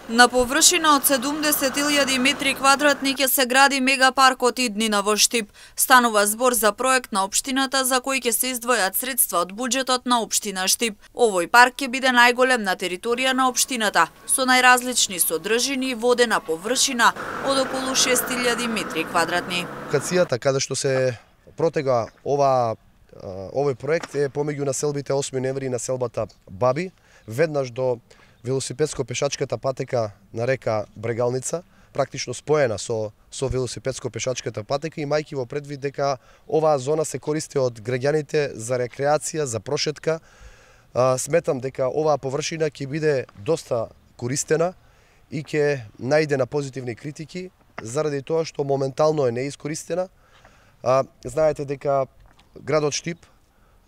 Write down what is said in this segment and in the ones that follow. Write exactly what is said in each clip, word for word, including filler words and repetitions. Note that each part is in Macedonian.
На површина од седумдесет илјади метри квадратни ќе се гради мегапаркот Иднина во Штип. Станува збор за проект на општината за кој ќе се издвојат средства од буџетот на општина Штип. Овој парк ќе биде најголем на територија на општината, со најразлични содржини и водена површина од околу шест илјади метри квадратни. Локацијата каде што се протега ова овој проект е помеѓу населбите осми ноември и населбата Баби, веднаш до велосипедско-пешачката патека на река Брегалница, практично споена со со велосипедско-пешачката патека, имајќи во предвид дека оваа зона се користи од граѓаните за рекреација, за прошетка. А, сметам дека оваа површина ќе биде доста користена и ќе најде на позитивни критики заради тоа што моментално е неискористена. А, знаете дека градот Штип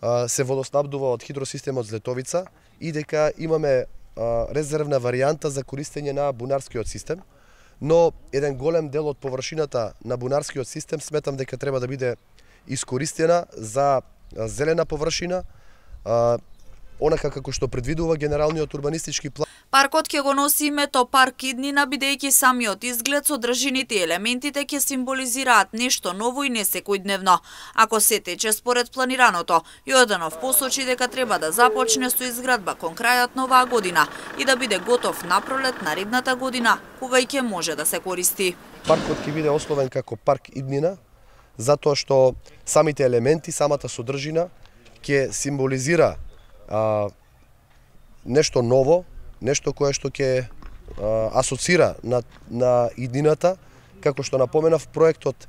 а, се водоснабдува од хидросистемот Злетовица и дека имаме резервна варијанта за користење на бунарскиот систем, но еден голем дел од површината на бунарскиот систем сметам дека треба да биде искористена за зелена површина, онака како што предвидува генералниот урбанистички план. Паркот ќе го носи името Парк Иднина, бидејќи самиот изглед, содржините и елементите ќе символизираат нешто ново и несекојдневно. Ако се тече според планираното, Јорданов посочи дека треба да започне со изградба кон крајот на оваа година и да биде готов на пролет наредната година, кога и ќе може да се користи. Паркот ќе биде основен како Парк Иднина, затоа што самите елементи, самата содржина ќе символизира а, нешто ново, нешто кое што ќе асоцира на, на иднината. Како што напоменав, проектот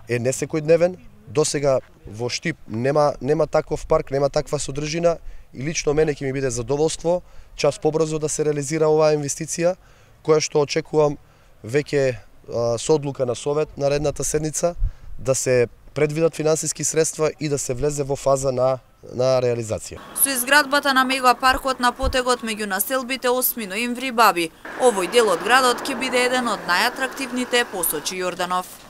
е несекојдневен. Досега во Штип нема, нема таков парк, нема таква содржина и лично мене ќе ми биде задоволство час побрзо да се реализира оваа инвестиција, која што очекувам веќе со одлука на Совет наредната седница да се предвидат финансиски средства и да се влезе во фаза на на реализација. Со изградбата на мегапаркот на потегот меѓу населбите осми ноември Баби, овој дел од градот ќе биде еден од најатрактивните, посочи Јорданов.